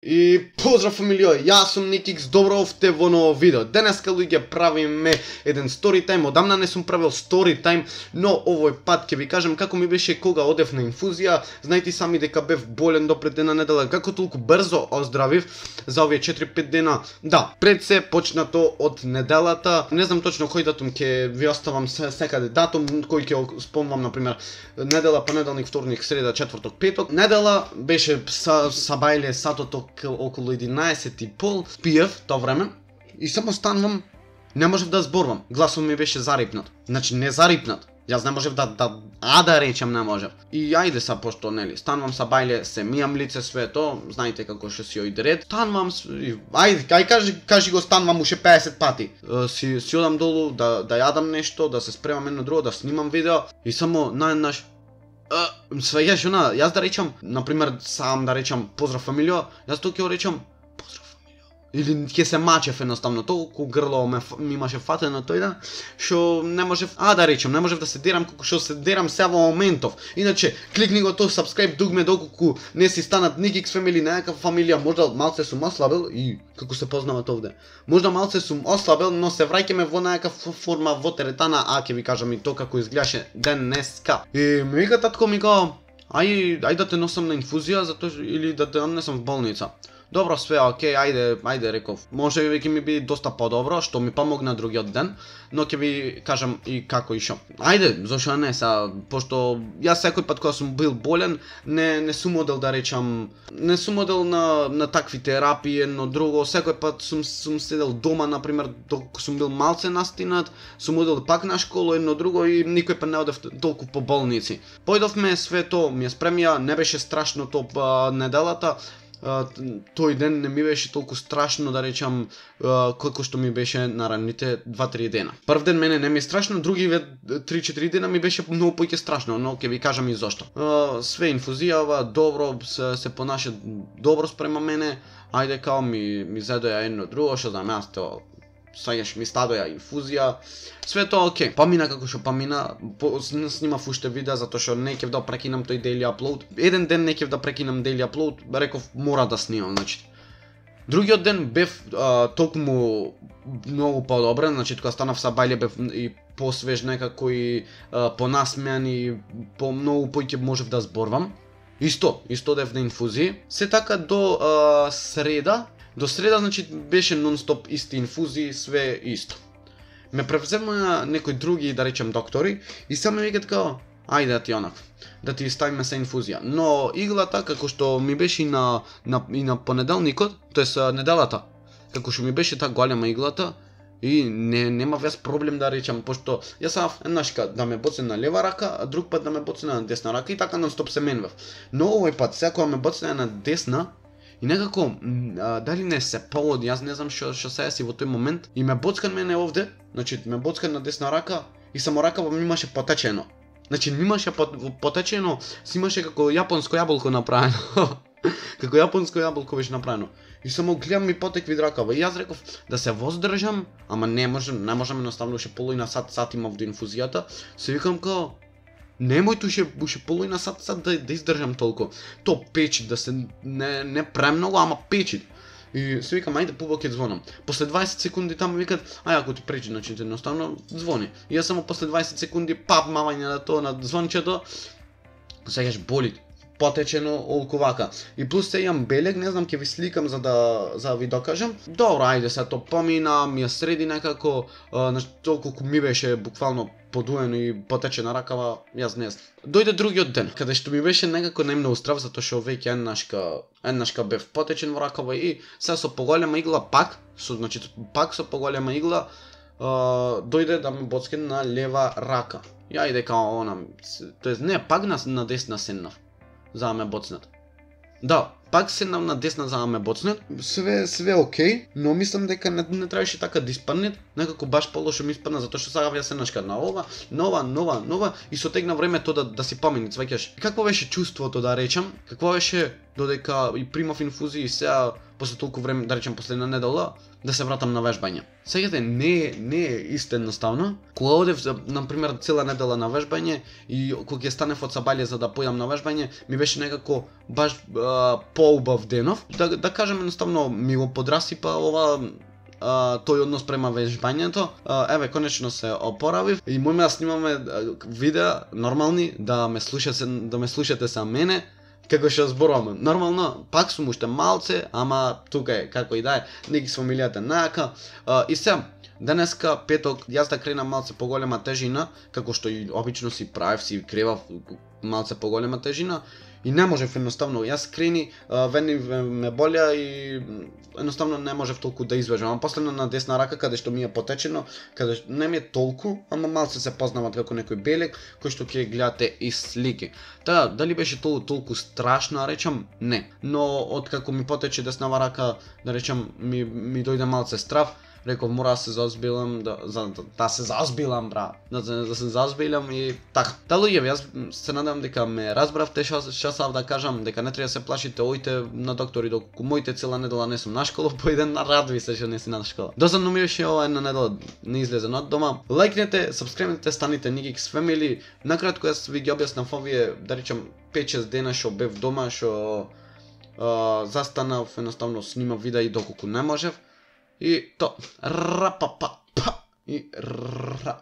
И поздрав фамилио, јас сум Никикс, добро овте во ново видео. Денеска луѓе правиме еден story time. Одамна не сум правил story time, но овој пат ќе ви кажам како ми беше кога одев на инфузија. Знаете сами дека бев болен до пред една недела, како толку брзо оздравив за овие 4-5 дена. Да, пред се почнато од неделата. Не знам точно кој датум ќе ви оставам секаде датум, кој ќе спомнам, например, недела, понеделник, вторник, среда, четврток, петок. Недела беше сабајле сатото околу 11:30, пиев тоа време и само станувам, не можев да зборувам. Гласот ми беше зарипнат. Значи не зарипнат. Јас не можев да речам не можев. И ајде са пошто нели, станувам са бајле, се мијам лице све то, знаете како што си ојде ред. Станувам, ајде кажи го станувам уште 50 пати. Си одам долу да јадам нешто, да се спремам едно друго, да снимам видео и само наеднаш свеѓаш она, јас да речам, например, сам да речам поздрав фамилио, јас тоа ќе речам поздрав фамилио. Или ќе се мачев едноставно, толку грло ми имаше фатено тој да, што не можев, да речам, не можев да се дерам како што се дерам сега во моментов. Иначе, кликни го тоа subscribe дугме доколку не си станат Никикс фамилија, некаква фамилија, можда малце сум ослабил и како се познават овде. Можда малце сум ослабил, но се враќаме во некаква форма во теретана, ќе ви кажам и тоа како изгледаше денеска. И ми вика татко ми као, ај да те носам на инфузија затоа или да те однесам в болница. Добро, све окей, ајде реков. Може би ќе ми биде доста подобро, што ми помогна другиот ден, но ќе ви кажам и како и шо. Ајде, зошто не са, пошто јас секој пат кога сум бил болен, не сум одел да речам, не сум одел на такви терапии, едно друго, секој пат сум седел дома, например, докато сум бил малце настинат, сум одел пак на школа, едно друго и никој пат не одев толку по болници. Појдовме све то, ми ја спремија, не беше страшно то неделата. Тој ден не ми беше толку страшно да речам како што ми беше на раните 2-3 дена. Прв ден мене не ми е страшно, други 3-4 дена ми беше многу поќе страшно, но ќе ви кажам и зошто. Све инфузија, добро се понаша добро спрема мене. Ајде као ми зедоја едно друго, што знам јас тоа. Саѓаш ми стадоја инфузија, све тоа окей. Помина како што помина, снимав уште видеа затоа што не ќе да прекинам тој daily upload. Еден ден не ќе да прекинам daily upload, реков мора да снимам, значи. Другиот ден бев токму многу подобрен, значи кога станав са бајле бев и посвеж некако и понасмеан и многу поќе можев да зборвам. Исто дев на инфузија. Се така до среда. До среда, значи, беше нон-стоп исти инфузии, све исто. Ме превземаа некои други, да речем, доктори и само ми викат као, ајде да ти онак, да ти ставиме се инфузија. Но иглата, како што ми беше и на понеделникот, тоест неделата, како што ми беше та голема иглата, и нема вес проблем да речам, пошто јас сав еднашка да ме боцне на лева рака, а друг пат да ме боцне на десна рака и така нон-стоп се менвав. Но овој пат, секоја ме боцне на десна, и некако, дали не се поводи, јас не знам што се си во тој момент, и ме боцкан мене овде, значи ме боцкан на десна рака, и само ракава ми имаше потечено. Значи ми имаше потечено, си имаше како јапонско јаболко направено. Како јапонско јаболко беше направено. И само гледам ми потекви ракава. И јас реков да се воздржам, ама не можам едноставно уште половина сат имав до инфузијата. Се викам као, немој уште половина сат да издржам толку. То печи, да се не премногу, ама печи. И се викам, ајде повеќе звонам. После 20 секунди таму викат, ако ти пречи, значи едноставно звони. И јас само после 20 секунди мавање на тоа на звончето, сеќаш боли. Потечено олку вака. И плюс се имам белег, не знам, ќе ви сликам за да ви докажам. Добро, ајде се то помина, ми ја среди некако, толку ми беше буквално подуено и потечена ракава, јас не знам. Дојде другиот ден, каде што ми беше некако најмногу страв, затоа што веќе еднашка бев потечен во ракава и се со поголема игла пак со поголема игла, дојде да ме боцке на лева рака. И ајде као она, тоест не, пак на десна седнав. За да ме боцнат. Да, пак седнав на десна за да ме боцнат. Све окей, но мислам дека не требаше така да испадне, некако баш полошо ми испадна затоа што сега ја седнашка на ова, нова и со тек на времето да си помени, сваќаш. Какво беше чувството да речам? Какво беше додека и примав инфузија и сега после толку време, да речем после една недела, да се вратам на вежбање. Сеќате, не е исто едноставно. Кога одев, например, цела недела на вежбање и кога ќе станев од сабајле за да појдам на вежбање, ми беше некако баш поубав денов. Да кажем едноставно ми го подрасипа ова тој однос према вежбањето. Еве, конечно се опоравив и можеме да снимаме видеа нормални, да ме слушате са мене како што зборувам. Нормално, пак сум уште малце, ама тука е како и да е, неки с фамилијата најака. И се, денеска петок, јас да кренам малце поголема тежина, како што и обично си правев, си кревав малце поголема тежина. И не можев едноставно, јас крени, вени ме болја и едноставно не можев толку да извежам. Ама последно на десна рака, каде што ми е потечено, каде не ми е толку, ама малце се познават како некој белек, кој што ќе гледате и слики. Та, дали беше толку страшно, речам, не. Но откако ми потече деснава рака, да речам, ми дојде малце страв. Реков, мора да се заозбилам, да се заозбилам, брат, да се заозбилам и така. Та луѓе, јас се надевам дека ме разбравте што сав да кажам, дека не треба да се плашите, ојте на доктори, доколку моите цела недела не сум на школа, поиден на радви се што не си на школа. Досадно ми беше ова една недела не излезен од дома. Лајкнете, сабскрајбнете, станите Nikix Family. Накратко јас ви ги објаснав овие, да речам, 5-6 дена што бев дома, што застанав, едноставно снимав видеа и доколку не можев. И то, рапапа, и ра.